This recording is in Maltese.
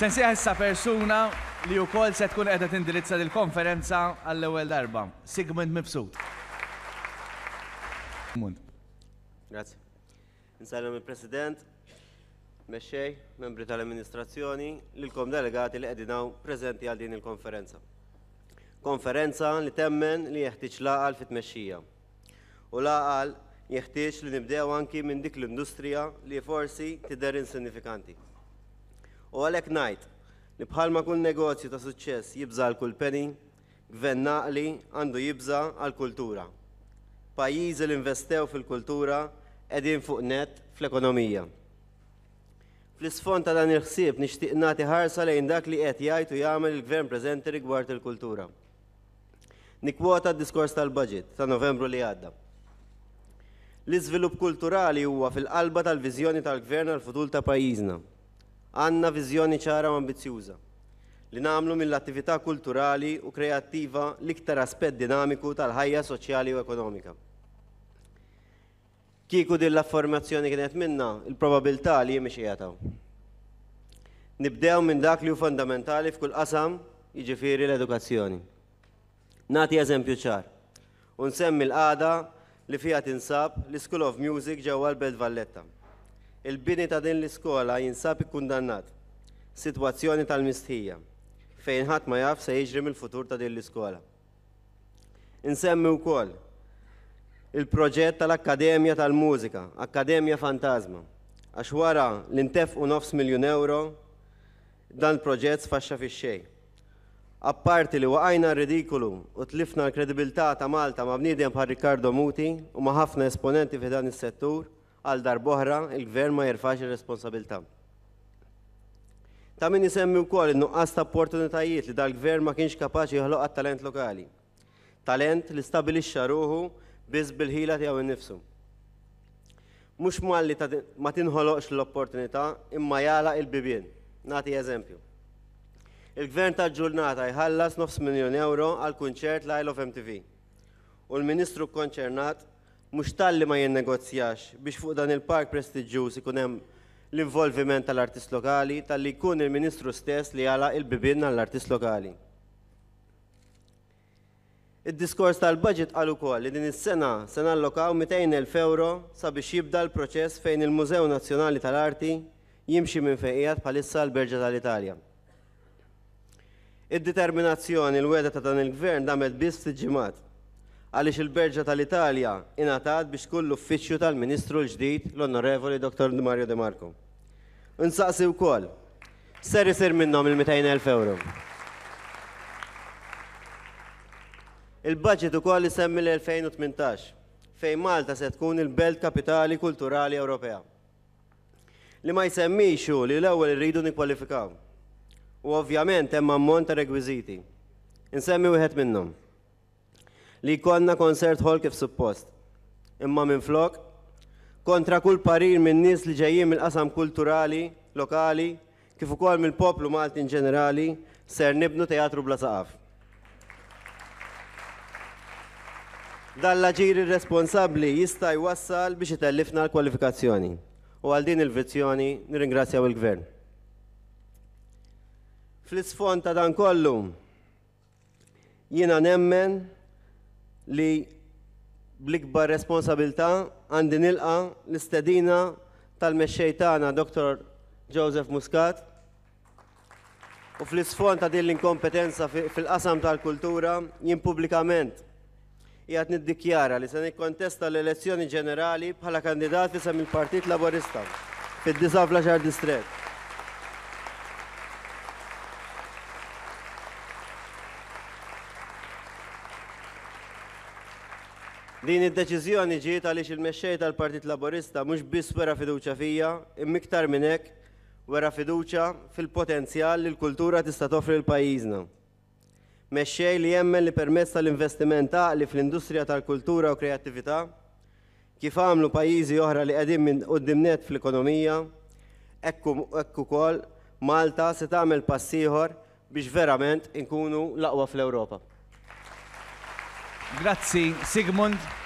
Se nsejjaħ issa persuna li wkoll se tkun qiegħda tindirizza lill-konferenza għall-ewwel darba, Sigmund Mifsud. Grazzi. Insellem il-President, Mexxej, membri tal-amministrazzjoni, lilkom delegati li qegħdin hawn preżenti għal din il-konferenza. Konferenza li temmen li jeħtieġ l-għaqal fit-tmexxija. U l-għaqal jeħtieġ li nibdew anki minn dik l-industrija li forsi tidher insinnifikanti. U għalhekk ngħid li bħalma kull negozju ta' suċċess jibża' għal kull penny, gvern għaqli għandu jibża' għall-kultura. Pajjiżi li investew fil-kultura qegħdin fuq nett fl-ekonomija. Fl-isfond ta' dan il-ħsieb nixtieq nagħti ħarsa lejn dak li qed jgħid u jagħmel il-gvern preżenti rigward il-kultura. Nikkwota d-diskors tal-budget ta' Novembru li għadda. L-iżvilupp kulturali huwa fil-qalba tal-viżjoni tal-Gvern għall-futur ta' pajjiżna. Għandna viżjoni ċara u ambizzjuża li nagħmlu mill-attività kulturali u kreattiva l-iktar aspett dinamiku tal-ħajja soċjali u ekonomika. Kieku din l-affermazzjoni kienet minnha, il-probabilità li jien mhix qiegħed hawn. Nibdew minn dak li hu fondamentali f'kull qasam, jiġifieri l-edukazzjoni. Nagħti eżempju ċar u nsemmi l-qagħda li fiha tinsab l-School of Music ġewwa l-Belt Valletta. Il-bini ta' din l-iskola jinsab ikkundannat, sitwazzjoni tal-mistħija, fejn ħadd ma jaf se jiġri mill-futur ta' din l-iskola. Insemmi wkoll il-proġett tal-Akkademja tal-Mużika, Akkademja Fantasma, għax wara li ntefqu nofs miljun ewro, dan il-proġett sfaxxa fix-xejn. Apparti li waqajna r-ridikolu u tlifna l-kredibilità ta' Malta ma' bniedem bħal Riccardo Muti u ma' ħafna esponenti fi dan is-settur, għal darb'oħra il-Gvern ma jerfax ir-responsabilità. Ta' min isemmi wkoll in-nuqqas ta' opportunitajiet li dal-Gvern ma kienx kapaċi joħloq għat-talent lokali. Talent li stabilixxa ruħu biss bil-ħila tiegħu nnifsu. Mhux malli ma tinħoloqx l-opportunità imma jagħlaq il-bibien. Nagħti eżempju. Il-Gvern tal-ġurnata jħallas nofs miljun ewro għal kunċert l-Isle of MTV. U l-Ministru kkonċernat mhux talli ma jinnegozjax biex fuq dan il-park prestiġġjuż ikun hemm l-involviment tal-artist lokali, talli jkun il-Ministru stess li jagħlaq il-bibien għall-artist lokali. Id-diskors tal-budget qal ukoll li din is-sena se nallokaw 200,000 ewro sabiex jibda l-proċess fejn il-Mużew Nazzjonali tal-Arti jimxi minn fejn qiegħed bħalissa l-Berġa tal-Italja. Id-determinazzjoni l-wegħda ta' dan il-Gvern damet biss ftit ġimgħat, għaliex il-Berġa tal-Italja ingħatat biex tkun l-uffiċċju tal-Ministru l-ġdid l-Onorevoli Dottor Mario De Marco. Insaqsi wkoll, x'ser isir minnhom il-200,000 ewro? Il-budget ukoll isemmi l-2018, fejn Malta se tkun il-Belt Kapitali Kulturali Ewropea. Li ma jsemmix hu li l-ewwel irridu nikkwalifikaw. U ovvjament hemm ammont ta' rekwiżiti. Insemmi wieħed minnhom. Li jkollna concert hall kif suppost. Imma minflok, kontra kull parir minn nies li ġejjin mill-qasam kulturali, lokali, kif ukoll mill-poplu Malti in ġenerali, ser nibnu teatru bla saqaf. Dan l-aġir irresponsabbli jista' jwassal biex itellifna l-kwalifikazzjoni u għal din il-vizzjoni nirringrazzjaw il-Gvern. Fl-isfond ta' dan kollu, Jiena nemmen li bl-ikbar responsabilità għandi nilqa' l-istedina tal-mexxej tagħna Dr. Joseph Muscat u fl-isfond ta' din l-inkompetenza fil-qasam tal-kultura jien pubblikament qiegħed niddikjara li se nikkontesta l-elezzjoni ġenerali bħala kandidat f'isem il-Partit Laburista fid-disa' fl-għaxar distrett. Din id-deċiżjoni ġiet għaliex il-mexxej tal-Partit Laburista mhux biss wera fiduċja fija, imma iktar minn hekk wera fiduċja fil-potenzjal li l-kultura tista' toffri lil pajjiżna. Mexxej li jemmen li permezz tal-investiment għaqli fl-industrija tal-kultura u kreattività, kif għamlu pajjiżi oħra li qegħdin minn quddiem nett fl-ekonomija, hekk ukoll Malta se tagħmel pass ieħor biex verament inkunu l-aqwa fl-Ewropa. Grazzi Sigmund.